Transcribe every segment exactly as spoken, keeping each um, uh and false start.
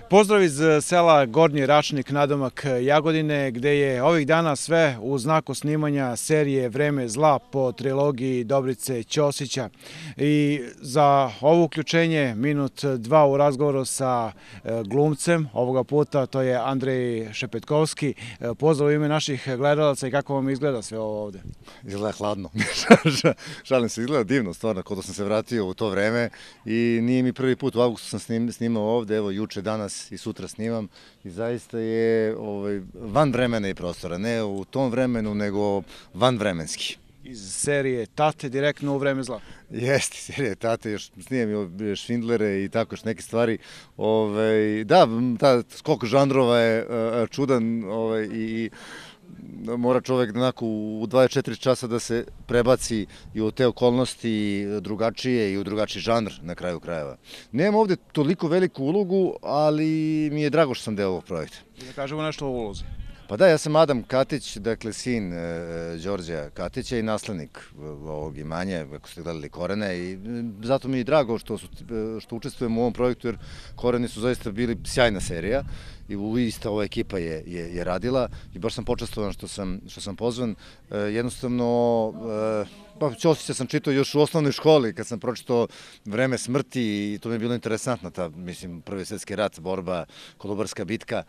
Pozdrav iz sela Gornji Račnik, nadomak Jagodine, gde je ovih dana sve u znaku snimanja serije Vreme zla po trilogiji Dobrice Ćosića. I za ovo uključenje minut dva u razgovoru sa glumcem ovoga puta, to je Andrej Šepetkovski. Pozdrav u ime naših gledalaca i kako vam izgleda sve ovo ovde? Izgleda hladno. Šalim se, izgleda divno, stvarno, kao da sam se vratio u to vreme i nije mi prvi put, u avgustu sam snimao ovde, evo juče, danas i sutra snimam i zaista je ovaj, van vremena i prostora, ne u tom vremenu, nego van vremenski. Iz serije Tate direktno u Vreme zla. Jeste, serije Tate, još snimam i Švindlere i tako još neke stvari. Ove, da, ta skok žanrova je uh, čudan ovaj, i mora čovek onako u dvadeset četiri časa da se prebaci i u te okolnosti drugačije i u drugačiji žanr na kraju krajeva. Nemam ovde toliko veliku ulogu, ali mi je drago što sam deo ovog projekta. I da kažemo nešto o ulozi. Pa da, ja sam Adam Katić, dakle sin e, Đorđa Katića i naslednik ovog imanja, ako ste gledali Korene, i zato mi je drago što, su, što učestvujem u ovom projektu, jer Koreni su zaista bili sjajna serija i ista ova ekipa je, je, je radila i baš sam počestvovan što sam, što sam pozvan. E, jednostavno, e, pa Ćosića sam čitao još u osnovnoj školi kad sam pročitao Vreme smrti i to mi je bilo interesantno, ta, mislim, Prvi svjetski rat, borba, Kolubarska bitka.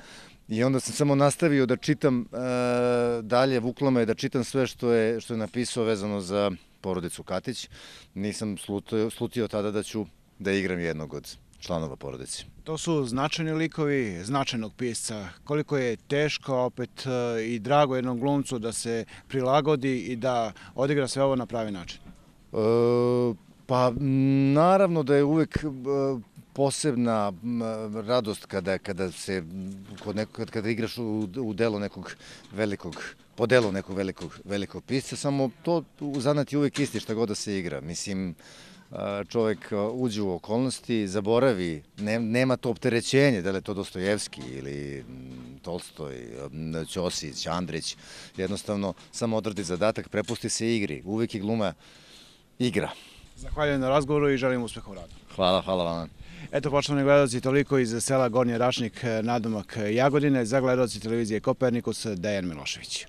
I onda sam samo nastavio da čitam e, dalje, vuklo me da čitam sve što je, što je napisao vezano za porodicu Katić. Nisam slutio, slutio tada da ću da igram jednog od članova porodice. To su značajni likovi značajnog pisca. Koliko je teško opet i drago jednom glumcu da se prilagodi i da odigra sve ovo na pravi način? E, pa naravno da je uvek posebna radost kada, kada se kod nekog, kada igraš u, u delu nekog velikog, po delu nekog velikog, velikog pisca, samo to u zanat je uvek isti šta god da se igra. Mislim, čovek uđe u okolnosti, zaboravi, ne, nema to opterećenje, da li je to Dostojevski ili Tolstoj, Ćosić, Andrić, jednostavno samo odradi zadatak, prepusti se igri, uvek je gluma igra. Zahvaljujem na razgovoru i želim uspeh u radu. Hvala, hvala vam. Eto, poštovani gledalci, toliko iz sela Gornji Račnik, nadomak Jagodine. Za gledalci televizije Kopernikus, Dejan Milošević.